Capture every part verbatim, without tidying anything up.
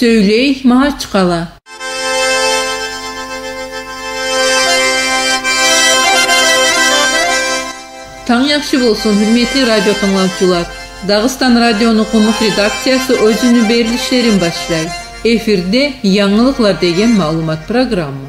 Сёйлей Магьачкъала. Танг яхшы болсун, гьюрметли радио тынглавчулар. Дагъыстан радиону къумукъ редакциясы оьзюню берилишлерин башлай. Эфирде «Янгылыкълар» деген маълумат программа.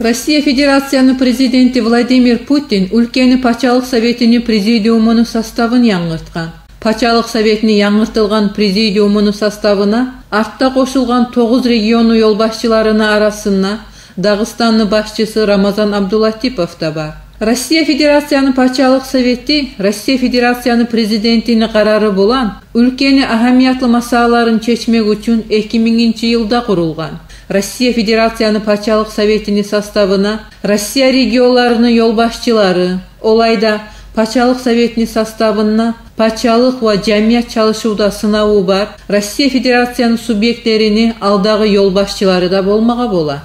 Россия Федерацияны Президенти Владимир Путин уьлкени Пачалыкъ Советини Президиумуну составын янгыртгъан. Пачалыкъ Советини янгыртылгъан Президиумуну составына артда къошулгъан тогъуз регионну ёлбашчыларыны арасында Дагъыстанны башчысы Рамазан Абдулатипов да бар. Россия Федерацияны Пачалыкъ Совети Россия Федерацияны Президентини къарары булан уьлкени агьамиятлы масъалаларын чечмек учун эки мингинчи йылда къурулгъан. Россия Федерацияны Пачалыкъ Советини составына Россия регионларыны ёлбашчылары, олай да Пачалыкъ Советини составында пачалыкъ ва жамият чалышывда сынаву бар Россия Федерацияны субъектлерини алдагъы ёлбашчылары да болмагъа бола.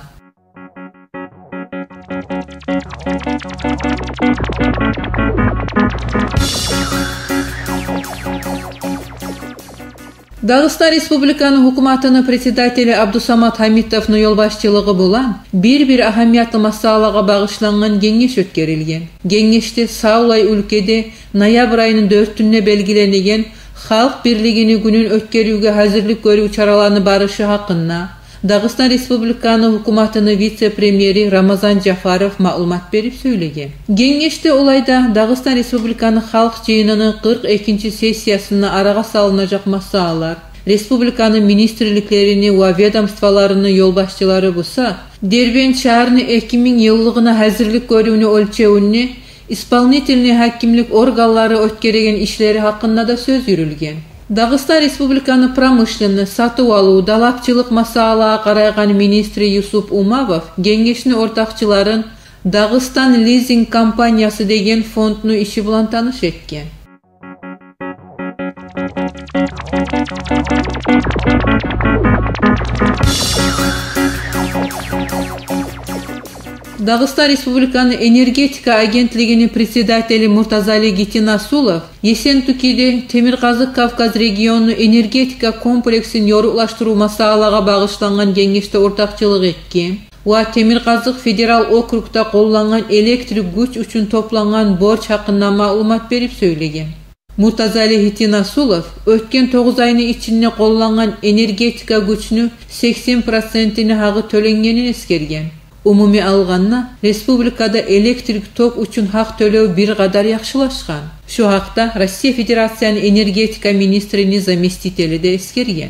Дагъыстан Республиканы гьукуматыны председатели Абдусамат Гьамитовну ёлбашчылыгъы булан бир-бир агьамиятлы масъалагъа багъышлангъан генгеш оьтгерилген. Генгешде савлай уьлкеде ноябрь айыны дёртюнде белгиленеген Халкъ бирлигини гюнюн оьтгерювге гьазирлик гёрюв чараланы барышы гьакъында Дагъыстан Республиканы гьукуматыны вице-премьери Рамазан Жафаров маълумат берип сёйлеген. Генгешде олай да Дагъыстан Республиканы Халкъ Жыйыныны къыркъ экинчи сессиясында арагъа салынажакъ масъалалар, республиканы министрликлерини ва ведомстволарыны ёлбашчылары буса Дербент шагьарны эки минг йыллыгъына гьазирлик гёрювню оьлчевюнде исполнительный гьакимлик органлары оьтгереген ишлери гьакъында да сёз юрюлген. Дагъыстан Республиканы промышленность, сатыв-алыв, далапчылыкъ масъалагъа къарайгъан министри Юсуп Умавов генгешни ортакъчыларын «Дагъыстан лизинг компаниясы» деген фондну иши булан таныш этген. Дагъыстан Республиканы энергетика агентлигини председатели Муртазали Гитинасулов Ессентукиде Темиркъазыкъ Кавказ регионну энергетика комплексин ёрукълашдырыв масъалагъа багъышлангъан генгешде ортакъчылыкъ этген ва Темиркъазыкъ федерал округда къоллангъан электрик гюч учун топлангъан борч гьакъында маълумат берип сёйлеген. Муртазали Гитинасулов оьтген тогъуз айны ичинде къоллангъан энергетика гючню сексен процентини гьакъы тёленгенин эсгерген. Умумий алгъанда, республикада электрик ток учун гьакъ тёлев бир къадар яхшылашгъан. Шу гьакъда Россия Федерацияны энергетика министрини заместители де эсгерген.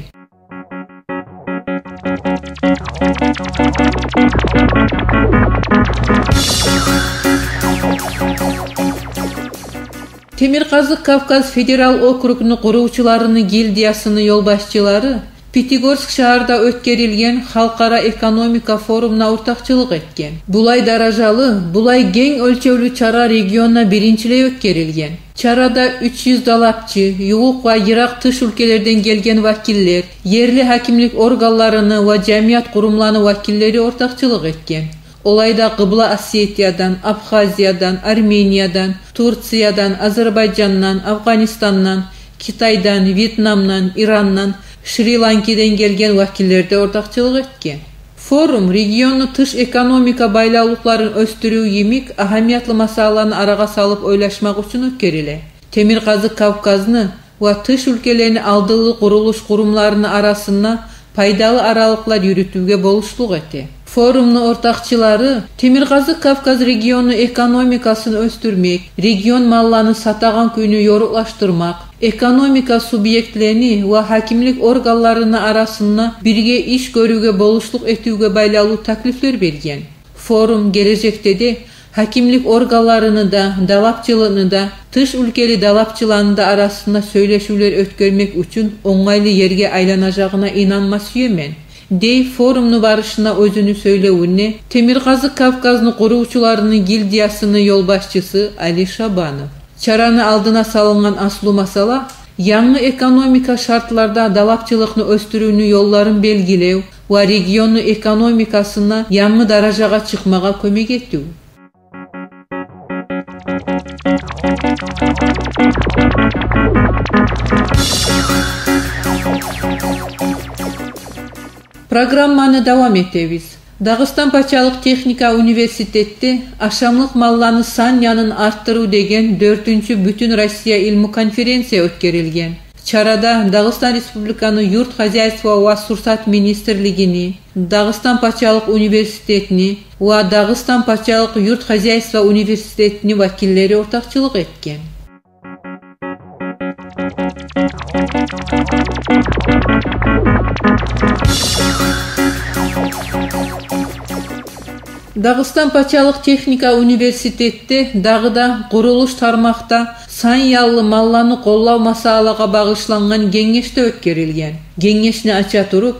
Темиркъазыкъ Кавказ федерал округну къурувчуларыны гильдиясыны ёлбашчылары Пятигорск шагьарда оьтгерилген халкъара экономика форумуна ортакъчылыкъ этген. Булай даражалы, булай генг оьлчевлю чара регионда биринчилей оьтгерилген. Чарада уьч юз далапчы, ювукъ ва йыракъ тыш уьлкелерден гелген вакиллер, ерли гьакимлик органларыны ва жамият къурумланы вакиллери ортакъчылыкъ этген. Олай да Къыбла Осетиядан, Абхазиядан, Армениядан, Турциядан, Азербайжандан, Афгъанистандан, Китайдан, Вьетнамдан, Ирандан, Шри-Ланкадан гелген вакиллер де ортакъчылыкъ этген. Форум регионну тыш экономика байлавлукъларын оьсдюрюв йимик агьамиятлы масъалаланы арагъа салып ойлашмакъ учун оьтгериле. Темиркъазыкъ Кавказны ва тыш уьлкелени алдынгы къурулуш къурумларыны арасында пайдалы аралыкълар юрютювге болушлукъ эте. Форумну ортакъчылары Темиркъазыкъ Кавказ регионну экономикасын оьсдюрмек, регион малланы сатагъан кюйню ёрукълашдырмакъ, экономика субъектлени ва гьакимлик органларыны арасында бирге иш гёрювге болушлукъ этивге байлавлу таклифлер берген. Форум гележекде де гьакимлик органларыны да, далапчыланы да, тыш уьлкели далапчыланы да арасында сёйлешивлер оьтгермек учун онгайлы ерге айланажагъына инанма сюемен, дей форумну барышында оьзюню сёйлевюнде Темиркъазыкъ Кавказны къурувчуларыны гильдиясыны ёлбашчысы Али Шабанов. Чараны алдына салынгъан аслу масъала янгы экономика шартларда далапчылыкъны оьсдюрювню ёлларын белгилев ва регионну экономикасына янгы даражагъа чыкъмагъа кёмек этив. Программаны давам этебиз. Дагъыстан пачалыкъ техника университетде ашамлыкъ малланы сан янын артдырыв деген дёртюнчю бютюн Россия илму конференция оьтгерилген. Чарада Дагъыстан Республиканы юрт хозяйство ва сурсат министрлигини, Дагъыстан пачалыкъ университетини ва Дагъыстан пачалыкъ юрт хозяйство университетини вакиллери ортакъчылыкъ этген. Дагъыстан пачалыкъ техника университетде дагъы да къурулуш тармакъда сан яллы малланы къоллав масъалагъа багъышлангъан генгеш де оьтгерилген. Генгешни ача туруп,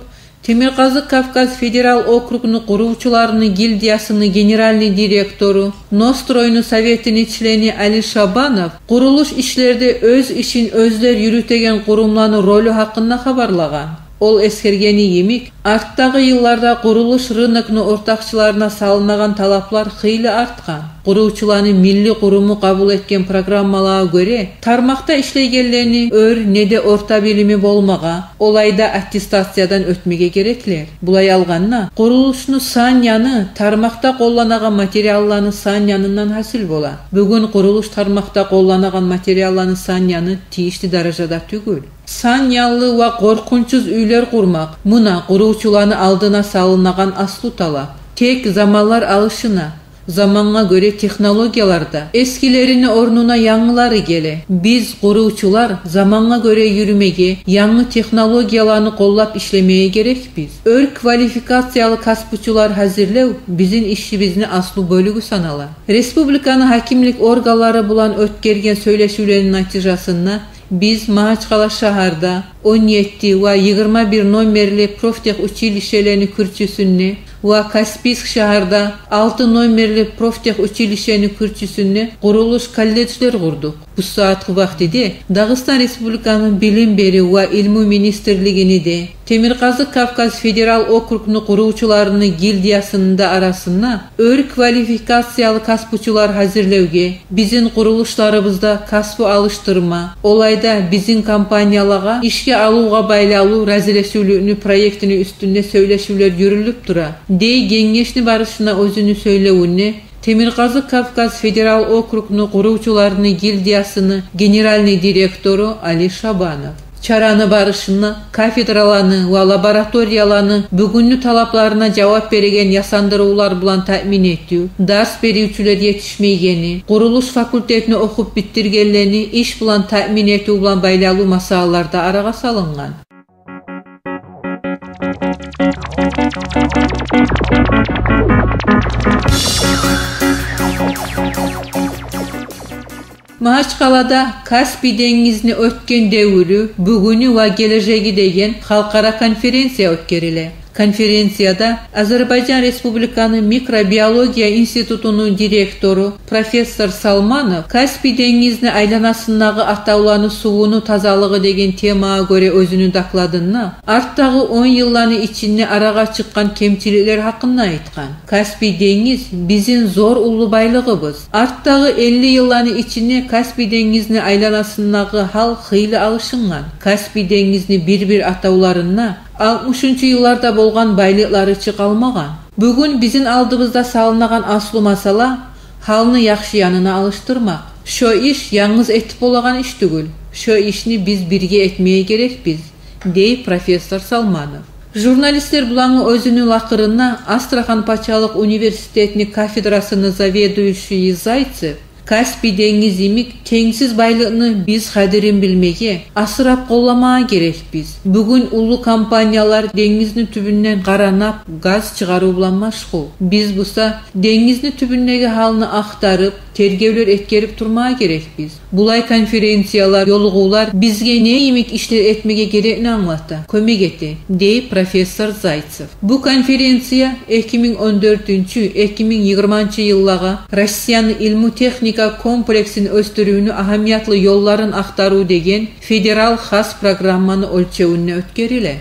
Темиркъазыкъ Кавказ федерал округну къурувчуларыны гильдиясыны генеральный директору, Ностройну советини члени Али Шабанов къурулуш ишлерде оьз ишин оьзлер юрютеген къурумланы ролю гьакъында хабарлагъан. Ол эсгергени йимик, артдагъы йылларда къурулуш рынокну ортакъчыларына салынагъан талаплар хыйлы артгъан. Къурувчуланы милли къуруму къабул этген программалагъа гёре, тармакъда ишлейгенлени оьр неде орта билими болмагъа, олай да аттестациядан оьтмеге гереклер. Булай алгъанда, къурулушну сан яны тармакъда къолланагъан материалланы сан янындан гьасил бола. Бугюн къурулуш тармакъда къолланагъан материалланы сан яны тийишли даражада тюгюл. Сан янлы ва къоркъунчсуз уьйлер къурмакъ — муна къурувчуланы алдына салынагъан аслу талап. Тек заманлар алышына, замангъа гёре технологиялар да, эсгилерини орнуна янгылары геле. Биз, къурувчулар, замангъа гёре юрюмеге, янгы технологияланы къоллап ишлемеге герекбиз. Оьр квалификациялы касбучулар гьазирлев бизин ишибизни аслу бёлюгю санала. Республиканы гьакимлик органлары булан оьтгерген сёйлешивлени натижасында биз Магьачкъала шагьарда он етти ва йигирма бир номерли профтехучилищелени кюрчюсюнде ва Каспийск шагьарда алты номерли профтехучилищени кюрчюсюнде къурулуш колледжлер къурдукъ. Бу сагьатгъы вакътиде Дагъыстан Республиканы Билим берив ва илму министрлигини де, Темиркъазыкъ Кавказ федерал округну къурувчуларыны гильдиясыны да арасында оьр квалификациялы касбучулар гьазирлевге, бизин къурулушларыбызда касбу алышдырма, олай да бизин компаниялагъа ишге алывгъа байлавлу разилешивлюкню проектини уьстюнде сёйлешивлер юрюлюп тура, — дей генгешни барышына оьзюню сёйлевюнде Темиркъазыкъ Кавказ федерал округну къурувчуларыны гильдиясыны генеральный директору Али Шабанов. Чараны барышында кафедраланы ва лабораторияланы бугюнгю талапларына жавап береген ясандырывлар булан таъмин этив, дарс беривчюлер етишмейгени, къурулуш факультетин охуп битдиргенлени иш булан таъмин этив булан байлавлу масъалалар да арагъа салынгъан. Магьачкъалада «Каспий денгизни оьтген девюрю, бугюню ва гележеги» деген халкъара конференция оьтгериле. Конференцияда Азербайжан Республиканы микробиология институтуну директору профессор Салманов «Каспий денгизни айланасындагъы атавланы сувуну тазалыгъы» деген темагъа гёре оьзюню докладында артдагъы он йылланы ичинде арагъа чыкъгъан кемчиликлер гьакъында айтгъан. Каспий денгиз — бизин зор уллу байлыгъыбыз. Артдагъы элли йылланы ичинде Каспий денгизни айланасындагъы гьал хыйлы алышынгъан. Каспий денгизни бир-бир атавларында алтмышынчы йылларда болгъан байлыкълары чы къалмагъан. Бугюн бизин алдыбызда салынагъан аслу масъала — гьалны яхшы янына алышдырмакъ. Шо иш янгыз этип болагъан иш тюгюл. Шо ишни биз бирге этмеге герекбиз, — дей профессор Салманов. Журналистлер булангъы оьзюню лакъырында Астрахань пачалыкъ университетини кафедрасыны заведующийи Зайцев: «Каспий денгиз йимик тенгсиз байлыкъны биз къадирин билмеге, асырап къолламагъа герекбиз. Бугюн уллу компаниялар денгизни тюбюнден къара нафт, газ чыгъарыв булан машгъул. Биз буса денгизни тюбюндеги гьалны ахтарып, тергевлер этгерип турмагъа герекбиз. Булай конференциялар, ёлугъувлар бизге не йимик ишлер этмеге герекни англата, кёмек эте», — дей профессор Зайцев. Бу конференция эки минг он дёртюнчю — эки минг йигирманчы йыллагъа «Россияны илму-техника комплексин оьсдюрювню агьамиятлы ёлларын ахтарыв» деген федерал хас программаны оьлчевюнде оьтгериле.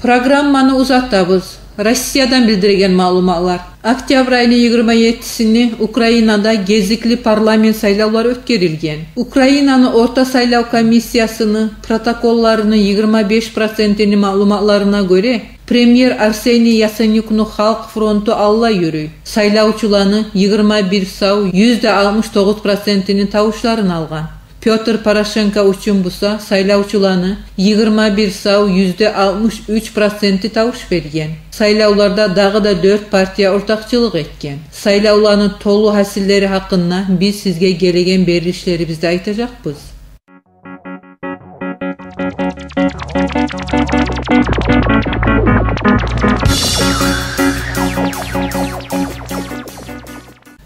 Программаны узатабыз. Россиядан билдирген маълуматлар. Октябрь айны йигирма еттисине Украинада гезикли парламент сайлавлары оьтгерилген. Украинаны орта сайлав комиссиясыны протоколларыны йигирма беш процентини маълуматларына гёре, премьер Арсений Яценюкну Халкъ фронту алда юрюй, сайлавчуланы йигирма бир сав юзде алтмыш тогъуз процентини тавушларын алгъан. Пётр Порошенко учун буса сайлавчуланы йигирма бир сав юзде алтмыш уьч проценти тавуш берген. Сайлавларда дагъы да дёрт партия ортакъчылыкъ этген. Сайлавланы толу гьасиллери гьакъында биз сизге гелеген берилишлерибизде айтажакъбыз.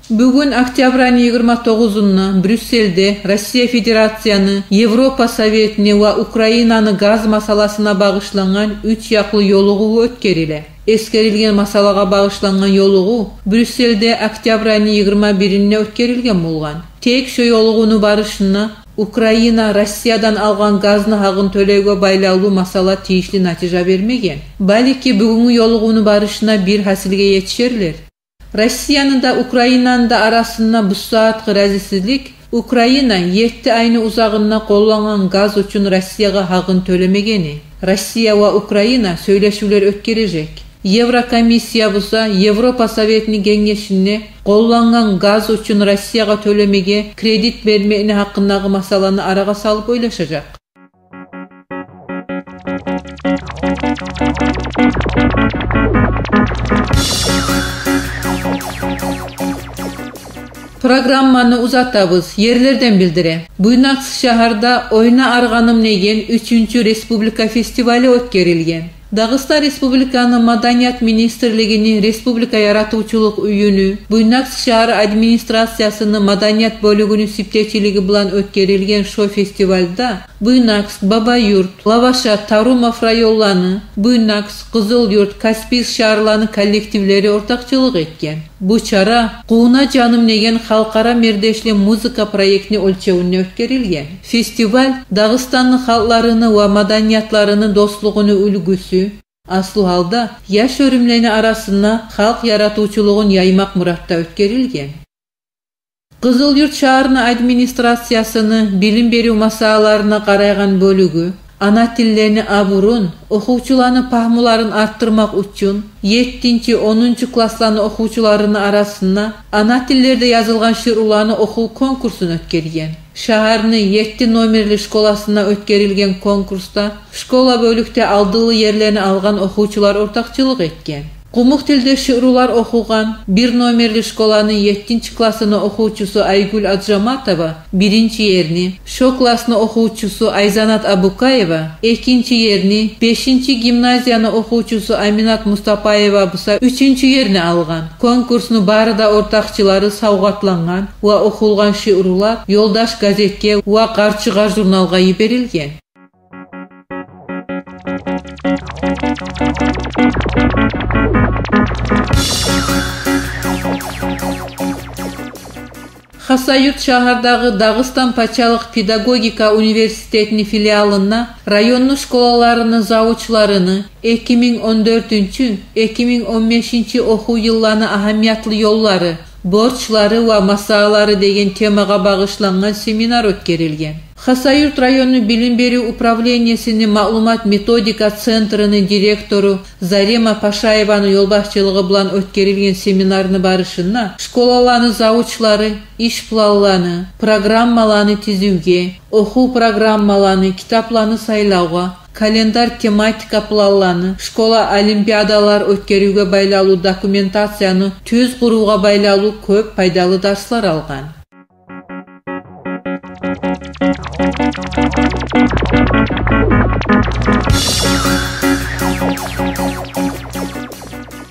Бугюн, октябрь айны йигирма тогъузунда, Брюссельде Россия Федерацияны, Европа Советини ва Украинаны газ масъаласына багъышлангъан уьч якълы ёлугъув оьтгериле. Эсгерилген масъалагъа багъышлангъан ёлугъув Брюссельде октябрь айны йигирма биринде оьтгерилген болгъан. Тек шо ёлугъувну барышында Украина Россиядан алгъан газны гьакъын тёлевге байлавлу масъала тийишли натижа бермеген. Балики, бугюнгю ёлугъувну барышында бир гьасилге етишерлер. Россияны да, Украинаны да арасында бу сагьатгъы разисизлик Украина етти айны узагъында къоллангъан газ учун Россиягъа гьакъын тёлемегени. Россия ва Украина сёйлешивлер оьтгережек. Еврокомиссия буса Европа Советини генгешинде къоллангъан газ учун Россиягъа тёлемеге кредит бермекни гьакъындагъы масъаланы арагъа салып ойлашажакъ. Программаны узатабыз. Ерлерден билдире. Буйнакск шагьарда «Ойна, аргъаным» деген уьчюнчю республика фестивалы оьтгерилген. Дагъыстан Республиканы Маданият министрлигини республика яратывчулукъ уьюню, Буйнакск шагьар администрациясыны маданият бёлюгюню сиптечилиги булан оьтгерилген шо фестивальда Буйнакск, Бабаюрт, Лаваша, Тарумов районланы, Буйнакск, Къызылюрт, Каспийск шагьарланы коллективлери ортакъчылыкъ этген. Бу чара «Къууна, жаным» деген халкъара мердешли музыка проектни оьлчевюнде оьтгерилген. Фестиваль Дагъыстанны халкъларыны ва маданиятларыны дослугъуну уьлгюсю, аслу гьалда яш оьрюмлени арасында халкъ яратывчулугъун яймакъ муратда оьтгерилген. Къызылюрт шагьарны администрациясыны билим берив масъалаларына къарайгъан бёлюгю ана тиллени абурун, охувчуланы пагьмуларын артдырмакъ учун еттинчи, онунчу классланы охувчуларыны арасында ана тиллерде язылгъан шиъруланы охув конкурсун оьтгерген. Шагьарны етти номерли школасында оьтгерилген конкурсда школа бёлюкде алдынлы ерлени алгъан охувчулар ортакъчылыкъ этген. Къумукъ тилде шиърулар охугъан бир номерли школаны еттинчи классыны охувчусу Айгюл Аджаматова биринчи ерни, шо классны охувчусу Айзанат Абукаева экинчи ерни, бешинчи гимназияны охувчусу Аминат Мустапаева буса уьчюнчю ерни алгъан. Конкурсну бары да ортакъчылары савгъатлангъан ва охулгъан шиърулар «Ёлдаш» газетге ва «Къарчыгъар» журналгъа йиберилген. Хасавюрт шагьардагъы Дагъыстан пачалыкъ педагогика университетини филиалында районну школаларыны завучларыны эки минг он дёртюнчю, эки минг он бешинчи охув йылланы агьамиятлы ёллары, борчлары ва масъалалары деген темагъа багъышлангъан семинар оьтгерилген. Хасавюрт районну билим берив управлениесини маълумат-методика центрини директору Зарема Пашаеваны ёлбашчылыгъы булан оьтгерилген семинарны барышында школаланы завучлары иш планланы, программаланы тизивге, охув программаланы, китапланы сайлавгъа, календарь, тематика планланы, школа олимпиадалар оьтгеривге байлавлу документацияны тюз къурувгъа байлавлу кёп пайдалы дарслар алгъан.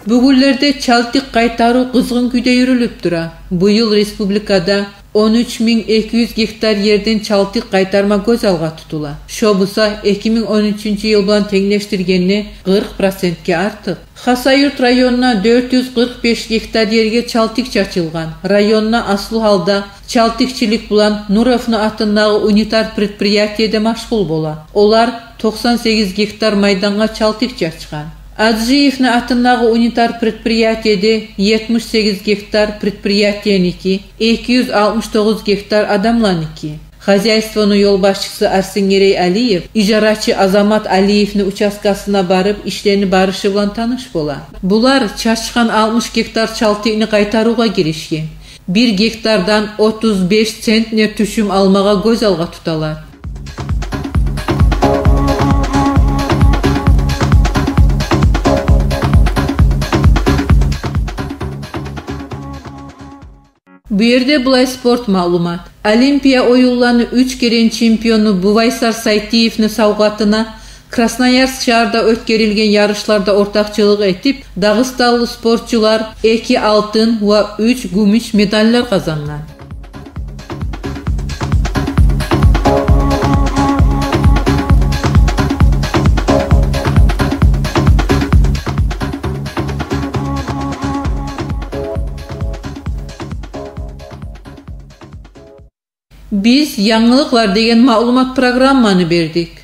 Бугюнлерде чалтыкъ къайтарыв къызгъын кюйде юрюлюп тура. Бу йыл республикада он уьч минг эки юз гектар ерден чалтыкъ къайтарма гёз алгъа тутула. Шо буса эки минг он уьчюнчю йыл булан тенглешдиргенде къыркъ процентге артыкъ. Хасавюрт районунда дёрт юз къыркъ беш гектар ерге чалтыкъ чачылгъан. Районда аслу гьалда чалтыкъчылыкъ булан Нуровну атындагъы унитар предприятие де машгъул бола. Олар токъсан сегиз гектар майдангъа чалтыкъ чачгъан. Аджиевни атындагъы унитар предприятиеде етмиш сегиз гектар предприятиеники, эки юз алтмыш тогъуз гектар адамланики. Хозяйствону ёлбашчысы Арсенгерей Алиев ижарачы Азамат Алиевни участкасына барып, ишлени барышы булан таныш бола. Булар чачгъан алтмыш гектар чалтыкъны къайтарывгъа гиришген. Бир гектардан отуз беш центнер тюшюм алмагъа гёз алгъа туталар. Бу ерде булай спорт маълумат. Олимпия оюнланы уьч керен чемпиону Бувайсар Сайтиевни савгъатына Красноярск шагьарда оьтгерилген ярышларда ортакъчылыкъ этип, дагъыстанлы спортчулар эки алтын ва уьч гюмюш медаллар къазангъан. Биз янгылыкълар деген маълумат программаны бердик.